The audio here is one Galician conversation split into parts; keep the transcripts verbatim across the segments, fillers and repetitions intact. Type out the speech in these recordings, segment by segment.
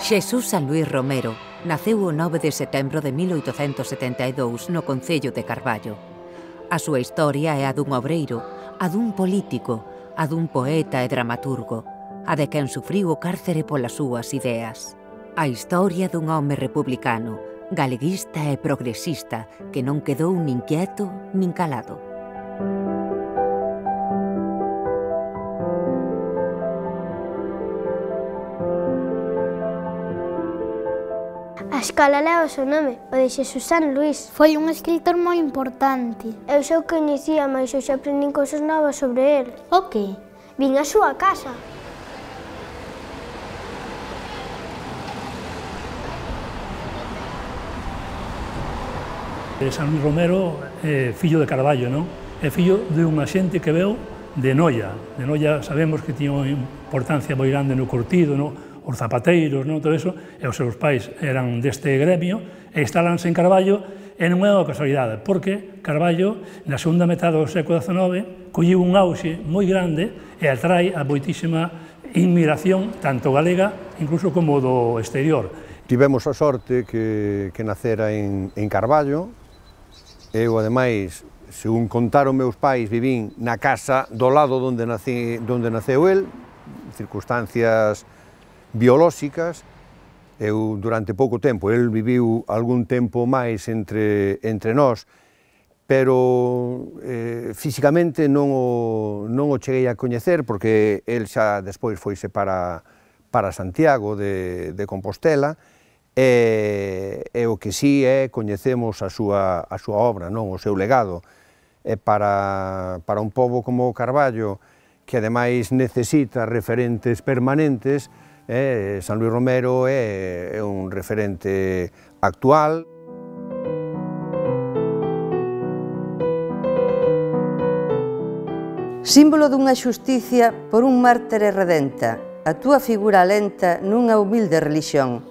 Xesús San Luís Romero naceu o nove de setembro de mil oitocentos setenta e dous no concello de Carballo. A súa historia é a dun obreiro, a dun político, a dun poeta e dramaturgo, a de quen sufriu o cárcere polas súas ideas. A historia dun home republicano, galeguista e progresista que non quedou nin quieto nin calado. A escola leva o seu nome, o de Xesús San Luís. Foi un escritor moi importante. Eu xa o coñecía, mas eu xa aprendín cousas novas sobre el. O que? Vin a súa casa. San Luís Romero é fillo de Carballo, non? É fillo de unha xente que veu de Noia. De Noia sabemos que tiña unha importancia moi grande no curtido, no? Os zapateiros, non? Todo eso, e os seus pais eran deste gremio, e instalanse en Carballo, e non é unha casualidade, porque Carballo, na segunda metade do século dezenove, colliu un auxe moi grande e atrai a moitísima inmigración, tanto galega, incluso como do exterior. Tivemos a sorte que, que nacera en, en Carballo. Eu, ademais, según contaron meus pais, vivín na casa do lado onde, nací, onde naceu el, circunstancias biolóxicas. Eu, durante pouco tempo, el viviu algún tempo máis entre, entre nós, pero eh, físicamente non o, non o cheguei a coñecer, porque el xa despois foise para, para Santiago de, de Compostela, e, e o que sí é, coñecemos a súa, a súa obra, non o seu legado. E para, para un pobo como Carballo, que ademais necesita referentes permanentes, eh, San Luís Romero é, é un referente actual. Símbolo dunha xusticia por un mártire redenta, a túa figura lenta nunha humilde relixión,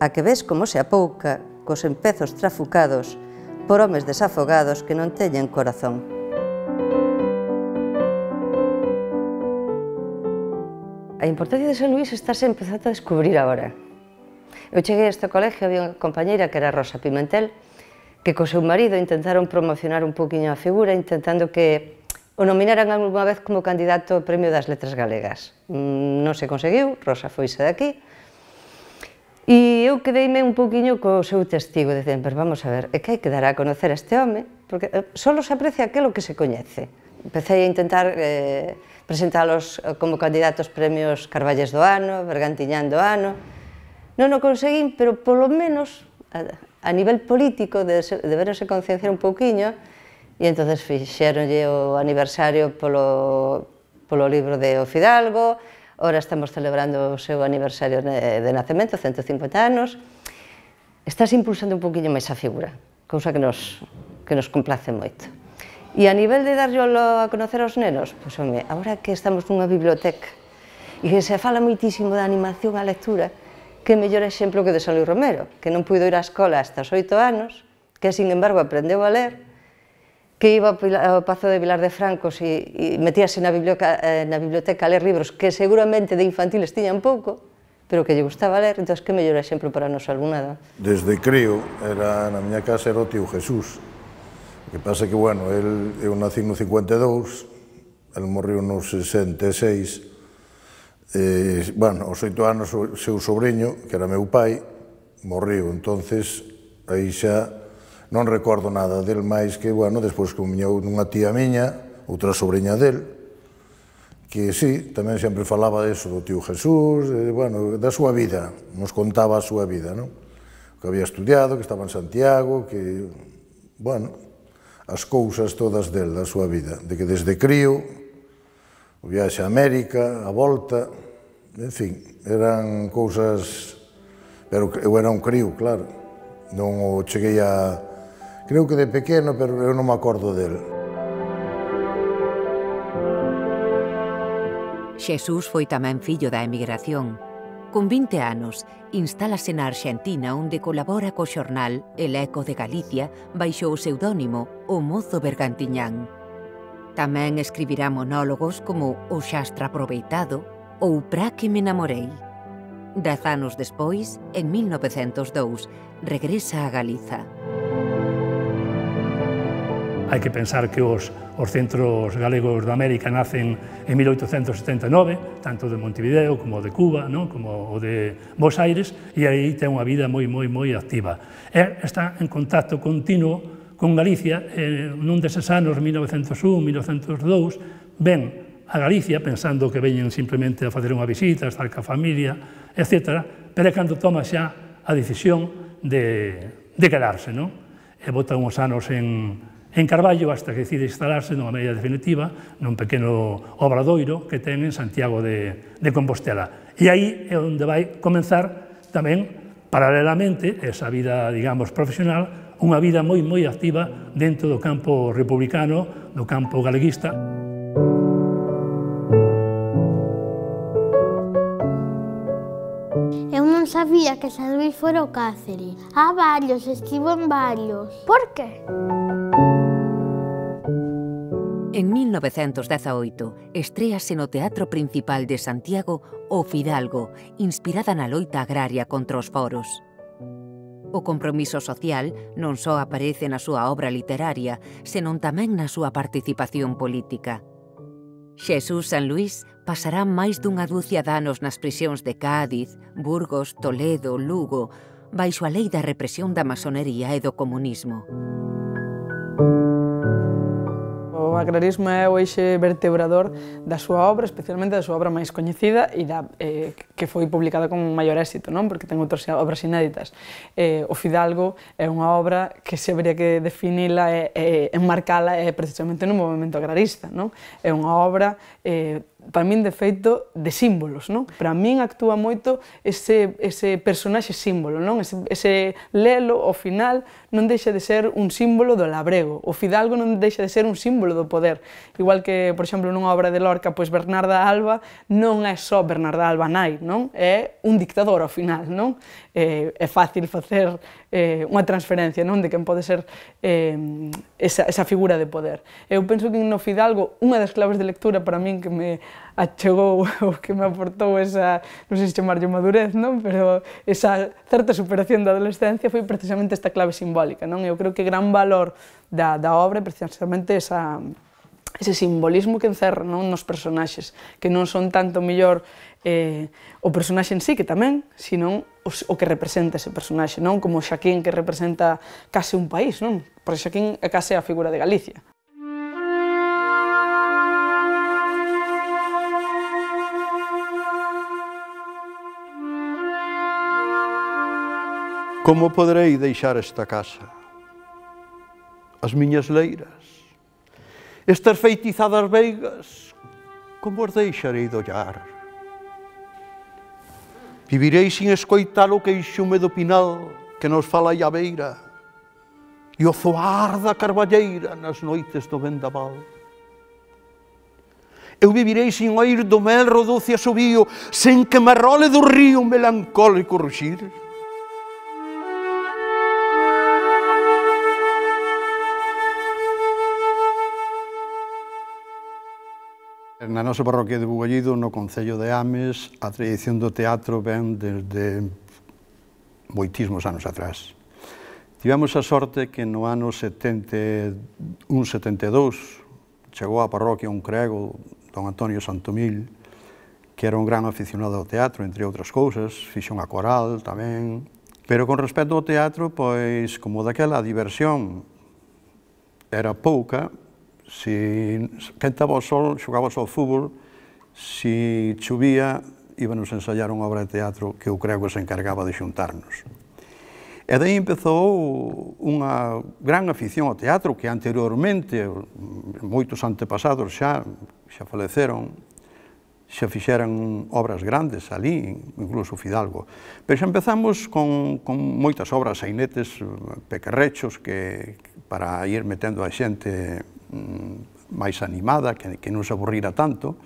a que ves como se apouca cos empezos trafucados por homes desafogados que non teñen corazón. A importancia de San Luís está se empezando a descubrir agora. Eu cheguei a este colegio, había unha compañeira que era Rosa Pimentel, que co seu marido intentaron promocionar un poquinho a figura, intentando que o nominaran algunha vez como candidato ao Premio das Letras Galegas. Non se conseguiu, Rosa foise daqui, e eu quedeime un poquinho co seu testigo, dicen, pero vamos a ver, é que hai que dar a conocer a este home, porque solo se aprecia aquilo que se coñece. Empecé a intentar eh, presentalos como candidatos premios Carballes do ano, Bergantiñán do ano. Non o conseguín, pero polo menos a, a nivel político de, de verse concienciar un pouquiño, e entonces fixeronlle o aniversario polo, polo libro de O Fidalgo. Ora estamos celebrando o seu aniversario de, de nacemento, cento e cincuenta anos. Estás impulsando un pouquiño máis a figura, cousa que nos, que nos complace moito. E a nivel de darlo a conocer aos nenos, pois, home, agora que estamos nunha biblioteca e que se fala moitísimo da animación á lectura, que mellor exemplo que de San Luís Romero, que non puido ir á escola hasta os oito anos, que, sin embargo, aprendeu a ler, que iba ao Pazo de Vilar de Francos e, e metíase na biblioteca, eh, na biblioteca a ler libros que seguramente de infantiles tiñan pouco, pero que lle gustaba ler, entón, que mellor exemplo para o noso alumnado. Desde crío, era, na miña casa era o tío Jesús. O que pasa que, bueno, el, eu nací no cincuenta e dous, el morreu no sesenta e seis, e, bueno, aos oito anos o seu sobrinho, que era meu pai, morreu, entonces, aí xa non recordo nada del máis que, bueno, despois que viñou nunha tía miña, outra sobrinha del, que sí, tamén sempre falaba deso do tío Jesús, de, bueno, da súa vida, nos contaba a súa vida, non? Que había estudiado, que estaba en Santiago, que, bueno, as cousas todas del, da súa vida, de que desde crío, o viaxe a América, a volta, en fin, eran cousas, pero eu era un crío, claro, non o cheguei a, creo que de pequeno, pero eu non me acordo del. Xesús foi tamén fillo da emigración. Con vinte anos, instálase na Arxentina, onde colabora co xornal El Eco de Galicia baixo o pseudónimo O Mozo Bergantiñán. Tamén escribirá monólogos como O Xastra Aproveitado ou Pra que me namorei. Dez anos despois, en mil novecentos e dous, regresa a Galiza. Hai que pensar que os, os centros galegos de América nacen en mil oitocentos setenta e nove, tanto de Montevideo como de Cuba, ¿no? Como o de Buenos Aires, e aí ten unha vida moi, moi, moi activa. E está en contacto continuo con Galicia, eh, nun deses anos, mil novecentos un, mil novecentos dous, ven a Galicia, pensando que veñen simplemente a facer unha visita, a estar ca familia, etcétera, pero é cando toma xa a decisión de, de quedarse, non? E bota uns anos en, en Carballo hasta que decide instalarse nunha medida definitiva nun pequeno obradoiro que ten en Santiago de, de Compostela. E aí é onde vai comenzar tamén, paralelamente, esa vida, digamos, profesional, unha vida moi, moi activa dentro do campo republicano, do campo galeguista. Eu non sabía que San Luís fora o Cáceres. Há varios, estivo en varios. Por qué? En mil novecentos dezaoito, estréase no Teatro Principal de Santiago O Fidalgo, inspirada na loita agraria contra os foros. O compromiso social non só aparece na súa obra literaria, senón tamén na súa participación política. Xesús Sanluís pasará máis dunha dúcia de anos nas prisións de Cádiz, Burgos, Toledo, Lugo, baixo a lei da represión da masonería e do comunismo. O agrarismo é o eixe vertebrador da súa obra, especialmente da súa obra máis coñecida e da, eh, que foi publicada con maior éxito, non? Porque ten outras obras inéditas. Eh, o Fidalgo é unha obra que se habría que definila e, e enmarcala é precisamente no movimento agrarista, non? É unha obra eh, para min de feito de símbolos, non? Para min actúa moito ese, ese personaxe símbolo, non? Ese, ese lelo, ao final, non deixa de ser un símbolo do labrego. O Fidalgo non deixa de ser un símbolo do poder. Igual que, por exemplo, nunha obra de Lorca, pois Bernarda Alba non é só Bernarda Alba nai, non? É un dictador ao final, non? Eh, é fácil facer eh, unha transferencia, non? De quen pode ser eh, esa, esa figura de poder. Eu penso que no Fidalgo, unha das claves de lectura para min que me achegou, o que me aportou esa, non sei se chamarlle madurez, non? Pero esa certa superación da adolescencia foi precisamente esta clave simbólica, non? Eu creo que gran valor da, da obra é precisamente esa, ese simbolismo que encerra, non? Nos personaxes, que non son tanto mellor eh, o personaxe en sí, que tamén, sino o, o que representa ese personaxe, non? Como Xaquín, que representa case un país, non? Porque Xaquín é case a figura de Galicia. Como poderei deixar esta casa? As miñas leiras? Estas feitizadas veigas? Como as deixarei de ollar? Vivirei sin escoitar o queixume do pinal que nos fala a beira e o zoar da carballeira nas noites do vendaval. Eu vivirei sin oír do melro doce asubío, sen que me role do río melancólico ruxir. Na nosa parroquia de Bugallido, no concello de Ames, a tradición do teatro ven desde moitísimos anos atrás. Tivemos a sorte que no ano setenta e un setenta e dous chegou á parroquia un crego, don Antonio Santomil, que era un gran aficionado ao teatro, entre outras cousas, fixo unha coral tamén. Pero con respecto ao teatro, pois, como daquela a diversión era pouca, si quentaba o sol, xogabas ao fútbol, si chovía, íbanos a ensayar unha obra de teatro que o crego se encargaba de xuntarnos. E daí empezou unha gran afición ao teatro que anteriormente, moitos antepasados xa, xa faleceron, xa fixeran obras grandes ali, incluso Fidalgo. Pero xa empezamos con, con moitas obras, sainetes, pequerrechos, que para ir metendo a xente máis animada, que, que non se aburrira tanto.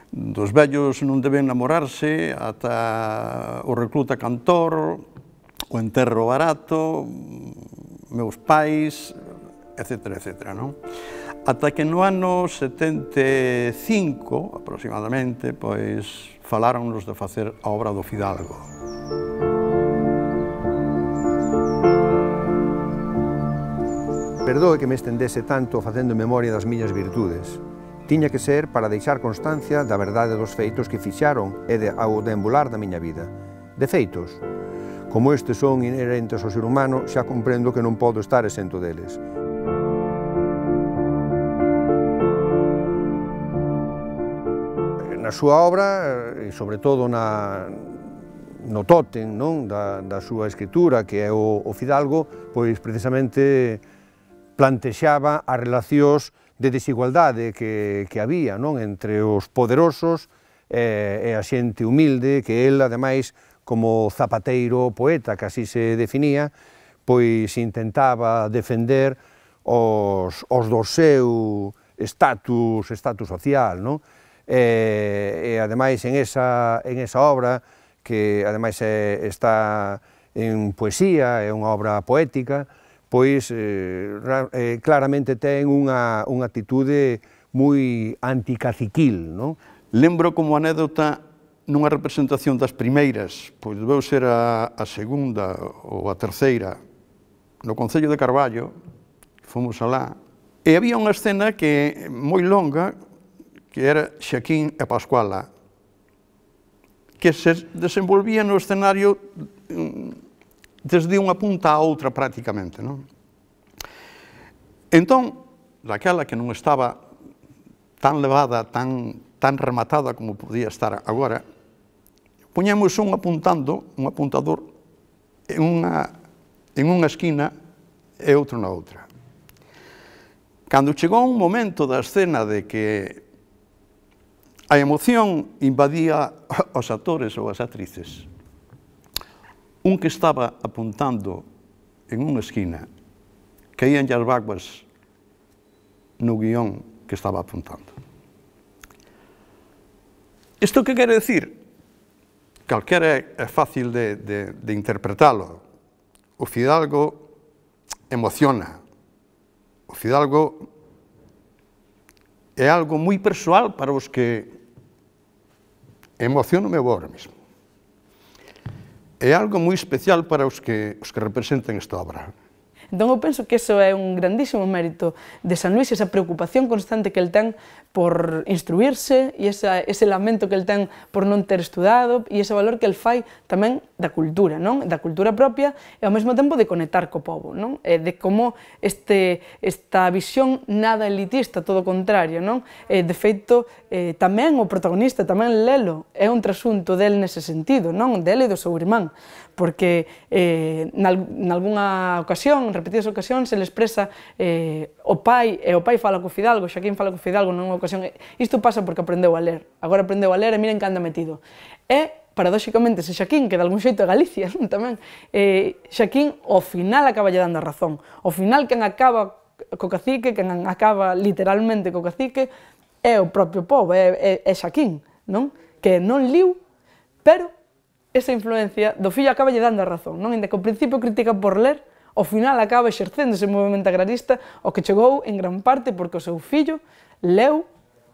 Dos vellos non deben namorarse, ata o recluta cantor, o enterro barato, meus pais, etcétera, etcétera, non? Ata que no ano setenta e cinco, aproximadamente, pois, faláronnos de facer a obra do Fidalgo. Perdoe que me estendese tanto facendo memoria das miñas virtudes. Tiña que ser para deixar constancia da verdade dos feitos que fixaron e de, ao deambular da miña vida. De feitos, como estes son inherentes ao ser humano, xa comprendo que non podo estar exento deles. Na súa obra, e sobre todo na, no tótem non? Da, da súa escritura, que é o, o Fidalgo, pois precisamente plantexaba as relacións de desigualdade que, que había non? Entre os poderosos e, e a xente humilde, que el, ademais, como zapateiro poeta, que así se definía, pois intentaba defender os, os do seu estatus, estatus social, non? E, e ademais en esa, en esa obra, que ademais é, está en poesía, é unha obra poética, pois eh, eh, claramente ten unha, unha actitude moi anticaciquil, non? Lembro como anécdota nunha representación das primeiras, pois debeu ser a, a segunda ou a terceira, no Concello de Carballo, fomos alá, e había unha escena que moi longa, que era Xaquín e Pascuala, que se desenvolvía no escenario desde unha punta a outra prácticamente, non? Entón, daquela que non estaba tan levada, tan, tan rematada como podía estar agora, poñemos un apuntando, un apuntador, en unha, en unha esquina e outro na outra. Cando chegou un momento da escena de que a emoción invadía os actores ou as actrices, un que estaba apuntando en unha esquina, caíanlle as vaguas no guión que estaba apuntando. Isto que quere decir? Calquera é fácil de, de, de interpretalo. O Fidalgo emociona. O Fidalgo é algo moi persoal para os que emociono-me agora mesmo. É algo moi especial para os que, os que representan esta obra. Entón, eu penso que iso é un grandísimo mérito de San Luís, esa preocupación constante que el ten por instruirse e esa, ese lamento que el ten por non ter estudado e ese valor que el fai tamén da cultura, non? Da cultura propia e ao mesmo tempo de conectar co povo, non? E de como este, esta visión nada elitista, todo o contrario, non? E, de feito, eh, tamén o protagonista, tamén Lelo, é un trasunto del nese sentido, non? Del e do seu irmán, porque eh, nalgúna ocasión, en repetidas ocasións, se le expresa eh, o pai, e o pai fala co Fidalgo, Xaquín fala co Fidalgo nunha ocasión, isto pasa porque aprendeu a ler, agora aprendeu a ler e miren que anda metido. E, paradóxicamente, se Xaquín, que de algún xeito é Galicia, tamén, eh, Xaquín, ao final, acaba lle dando a razón. Ao final, quen acaba co cacique, quen acaba literalmente co cacique, é o propio povo, é, é, é Xaquín, non? Que non liu, pero esa influencia do fillo acaba lle dando a razón, non? Inda que ao principio critica por ler, ao final acaba exercendo ese movimento agrarista, o que chegou en gran parte porque o seu fillo leu,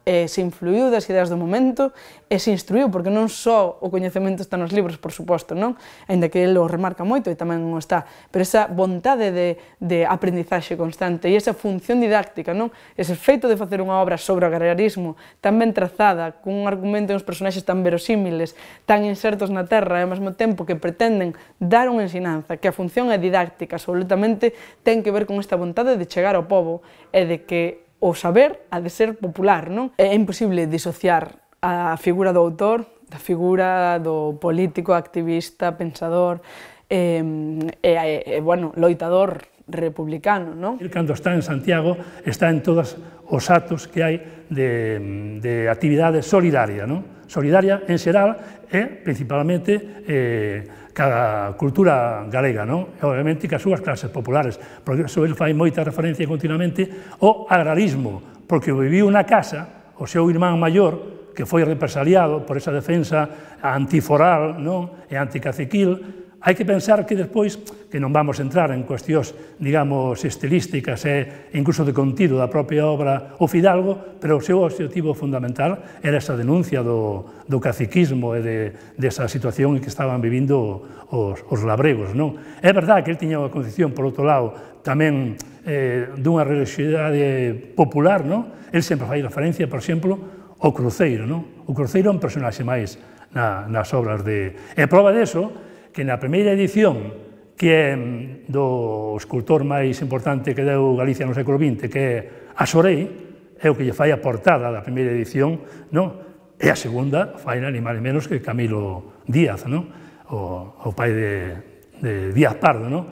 e se influiu das ideas do momento e se instruiu, porque non só o coñecemento está nos libros, por suposto, non? Ainda que ele o remarca moito e tamén o está, pero esa vontade de, de aprendizaxe constante e esa función didáctica, non? Ese feito de facer unha obra sobre o agrarismo tan ben trazada, con un argumento e uns personaxes tan verosímiles, tan insertos na terra e ao mesmo tempo que pretenden dar unha ensinanza, que a función é didáctica, absolutamente ten que ver con esta vontade de chegar ao povo e de que o saber ha de ser popular, non? É imposible disociar a figura do autor da figura do político, activista, pensador e, e, e bueno, loitador republicano, non? Cando está en Santiago, está en todos os actos que hai de, de actividade solidaria, non? Solidaria en xeral e principalmente eh, cada cultura galega, non? E obviamente que as súas clases populares, porque iso ele fai moita referencia continuamente ao agrarismo, porque viviu na casa o seu irmán maior, que foi represaliado por esa defensa antiforal, non? E anticaciquil, Hai que pensar que despois, que non vamos entrar en cuestións, digamos, estilísticas e incluso de contido da propia obra o Fidalgo, pero o seu objetivo fundamental era esa denuncia do, do caciquismo e de, desa situación en que estaban vivindo os, os labregos, non? É verdade que ele tiña unha concepción, por outro lado, tamén eh, dunha religiosidade popular, non? Ele sempre fai referencia, por exemplo, ao cruceiro, non? O cruceiro é un personaxe máis na, nas obras de... E prova deso, que na primeira edición, que é do escultor máis importante que deu Galicia no século vinte, que é Asorei, é o que lle fai a portada da primeira edición, non? E a segunda fai ni máis menos que Camilo Díaz, non? O, o pai de, de Díaz Pardo, non?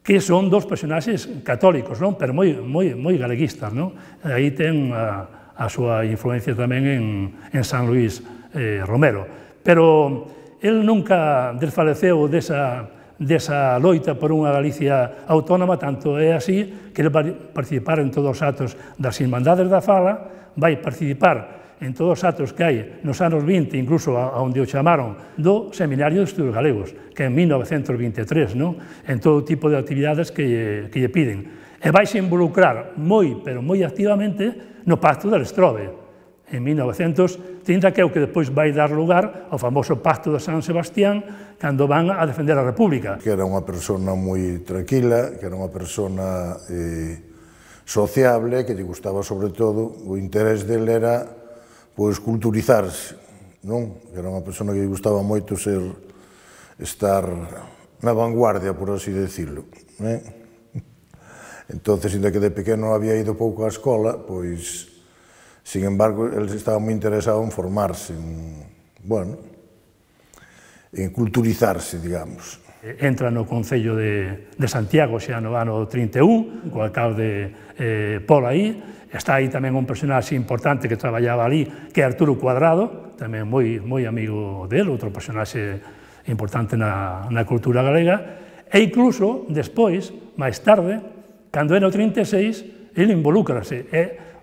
Que son dos personaxes católicos, non? Pero moi, moi, moi galeguistas, non? Aí ten a, a súa influencia tamén en, en San Luís eh, Romero. Pero el nunca desfaleceu desa, desa loita por unha Galicia autónoma, tanto é así que ele vai participar en todos os atos das Irmandades da Fala, vai participar en todos os atos que hai nos anos vinte, incluso onde o chamaron do Seminario de Estudos Galegos, que é en mil novecentos vinte e tres, non? En todo tipo de actividades que lle, que lle piden. E vai se involucrar moi, pero moi activamente no Pacto del Estrobe, en mil novecentos trinta, que é o que despois vai dar lugar ao famoso Pacto de San Sebastián, cando van a defender a República. Que era unha persona moi tranquila, que era unha persona eh, sociable, que lle gustaba sobre todo, o interés dele era pois culturizarse, non? Que era unha persona que lle gustaba moito ser, estar na vanguardia, por así decirlo, né? Entonces, inda que de pequeno había ido pouco á escola, pois, sin embargo, ele estaba moi interesado en formarse, en, bueno, en culturizarse, digamos. Entra no Concello de, de Santiago xa no ano trinta e un, co alcalde eh, Pol aí. Está aí tamén un personaxe importante que traballaba ali, que é Arturo Cuadrado, tamén moi, moi amigo dele, outro personaxe importante na, na cultura galega. E incluso, despois, máis tarde, cando era o trinta e seis, ele involúcrase. E,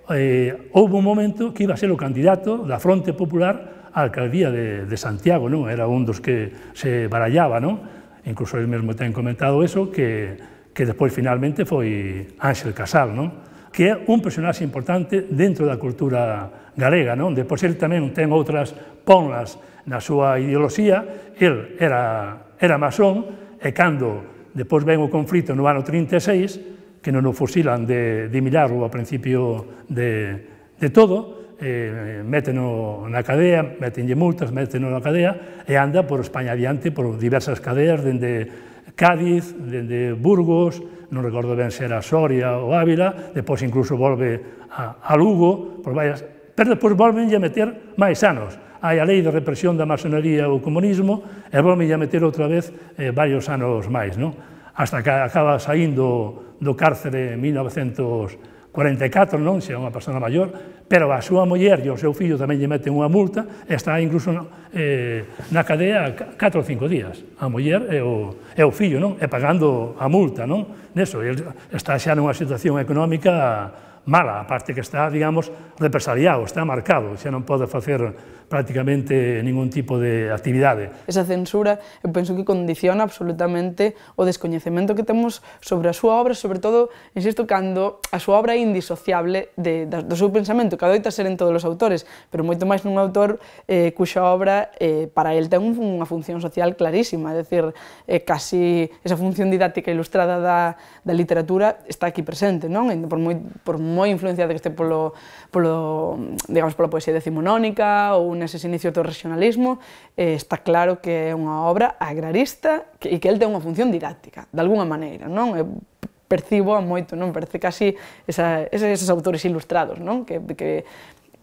eh, houve un momento que iba a ser o candidato da Fronte Popular á alcaldía de, de Santiago, non? Era un dos que se barallaba, non? Incluso ele mesmo ten comentado eso, que, que despois finalmente foi Ángel Casal, non? Que é un personaxe importante dentro da cultura galega, non? Depois ele tamén ten outras ponlas na súa ideoloxía. El era, era masón, e cando depois ven o conflito no ano trinta e seis, que non o fusilan de, de milagro ao principio de, de todo, eh, méteno na cadea, métenlle multas, méteno na cadea, e anda por España adiante por diversas cadeas, dende Cádiz, dende Burgos, non recordo ben se era Soria ou Ávila, depois incluso volve a, a Lugo, por varias, pero depois volvenlle a meter máis anos. Hai a lei de represión da masonería ou comunismo, e volvenlle a meter outra vez eh, varios anos máis, non? Hasta que acaba saindo do cárcere en mil novecentos cuarenta e catro, non? Xa é unha persona maior, pero a súa muller e o seu fillo tamén lle meten unha multa, e está incluso eh, na cadea catro ou cinco días, a muller e o, e o fillo, non? E pagando a multa, non? Neso, ele está xa nunha situación económica mala, a parte que está, digamos, represaliado, está marcado, xa non pode facer prácticamente ningún tipo de actividade. Esa censura, eu penso que condiciona absolutamente o descoñecemento que temos sobre a súa obra, sobre todo, insisto, cando a súa obra é indisociable de, de, do seu pensamento, que adoita ser en todos os autores, pero moito máis nun autor eh, cuxa obra eh, para el ten unha función social clarísima, é dicir, eh, casi esa función didáctica ilustrada da, da literatura está aquí presente, non? Por moi, por moi influenciada que este polo, polo, digamos, pola poesía decimonónica ou neses inicios do regionalismo, eh, está claro que é unha obra agrarista que, e que el ten unha función didáctica, de alguna maneira, non? Eu percibo a moito, non? Parece casi esa, eses autores ilustrados, non? Que, que,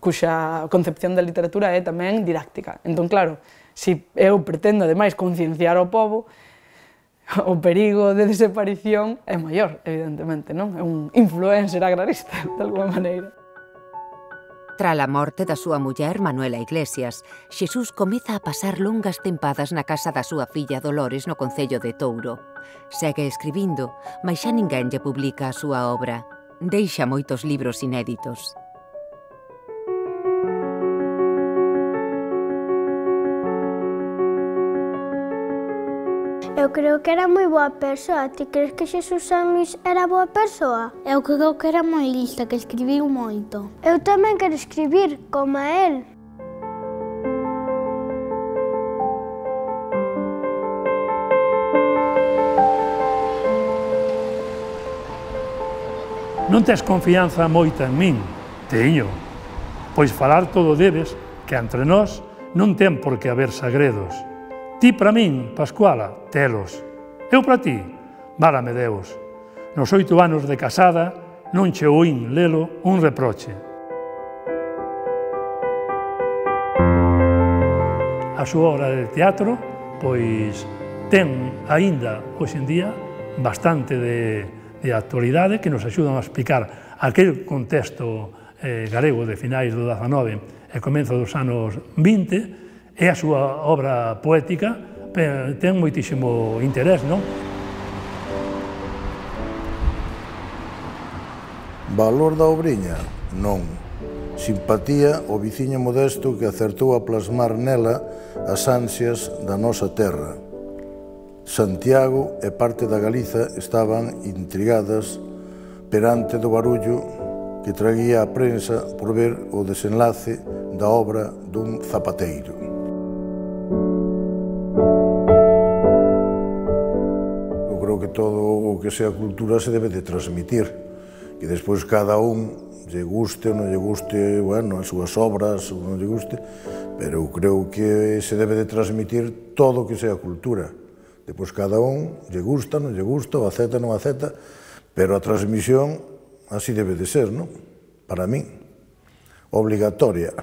cuxa concepción da literatura é tamén didáctica. Entón, claro, se eu pretendo, ademais, concienciar ao pobo, o perigo de desaparición é maior, evidentemente, non? É un influencer agrarista, de alguna maneira. Tras a morte da súa muller, Manuela Iglesias, Xesús comeza a pasar longas tempadas na casa da súa filla Dolores no concello de Touro. Segue escribindo, mas xa ninguén lle publica a súa obra. Deixa moitos libros inéditos. Eu creo que era moi boa persoa. Ti crees que Xesús San Luís era boa persoa? Eu creo que era moi lista, que escribiu moito. Eu tamén quero escribir, como a él. Non tes confianza moita en min? Teño. Pois falar todo debes, que entre nós non ten por que haber sagredos. Ti para min, Pascuala, telos. Eu para ti, válame Deus. Nos oito anos de casada non che oín lelo un reproche. A súa obra de teatro, pois, ten aínda, hoxe en día, bastante de de actualidade que nos axudan a explicar aquel contexto eh, galego de finais do dezanove e comezo dos anos vinte, e a súa obra poética ten moitísimo interés, non? Valor da obriña? Non. Simpatía ao viciño modesto que acertou a plasmar nela as ansias da nosa terra. Santiago e parte da Galiza estaban intrigadas perante do barullo que traía a prensa por ver o desenlace da obra dun zapateiro. Eu creo que todo o que sea cultura se debe de transmitir, que despois cada un lle guste ou non lle guste, bueno, as súas obras ou non lle guste, pero eu creo que se debe de transmitir todo o que sea cultura. Depois cada un lle gusta, non lle gusta, o acepta, non acepta, pero a transmisión así debe de ser, non? Para min, obligatoria.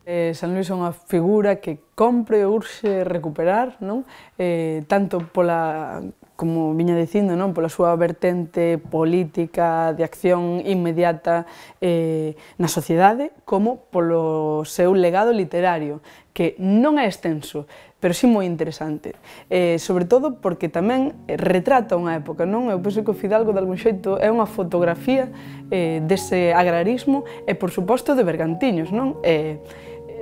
Eh, San Luís é unha figura que compre ou urxe recuperar, non? Eh, tanto pola, como viña dicindo, non? Pola súa vertente política de acción inmediata eh, na sociedade, como polo seu legado literario, que non é extenso, pero sí moi interesante. Eh, sobre todo porque tamén retrata unha época, non? Eu penso que o Fidalgo, de algún xeito, é unha fotografía eh, dese agrarismo e, por suposto, de Bergantiños, non? Eh,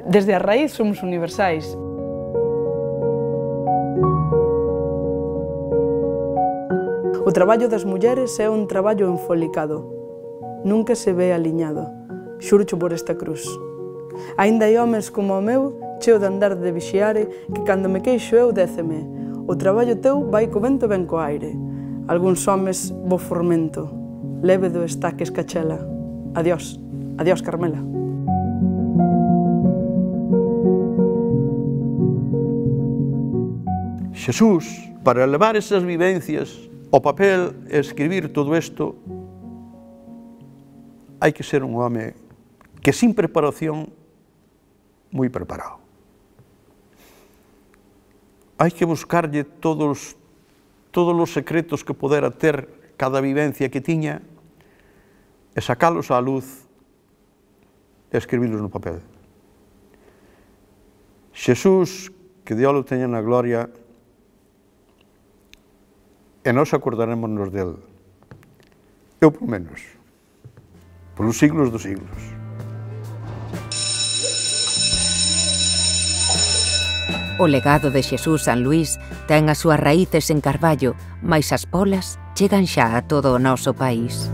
desde a raíz somos universais. O traballo das mulleres é un traballo enfolicado. Nunca se ve aliñado. Xurcho por esta cruz. Aínda hai homes como o meu, cheo de andar de vixiare, que cando me queixo eu déceme. O traballo teu vai co vento ben co aire. Algúns homes bo formento. Lévedo está que escachela. Adiós, adiós Carmela. Xesús, para levar esas vivencias ao papel e escribir todo isto, hai que ser un home que sin preparación, moi preparado. Hai que buscarlle todos, todos os secretos que podera ter cada vivencia que tiña e sacalos á luz e escribilos no papel. Xesús, que Dios o teña na gloria, e nós acordarémonos del. Eu, por menos, polos siglos dos siglos. O legado de Xesús San Luís ten as súas raíces en Carballo, mais as polas chegan xa a todo o noso país.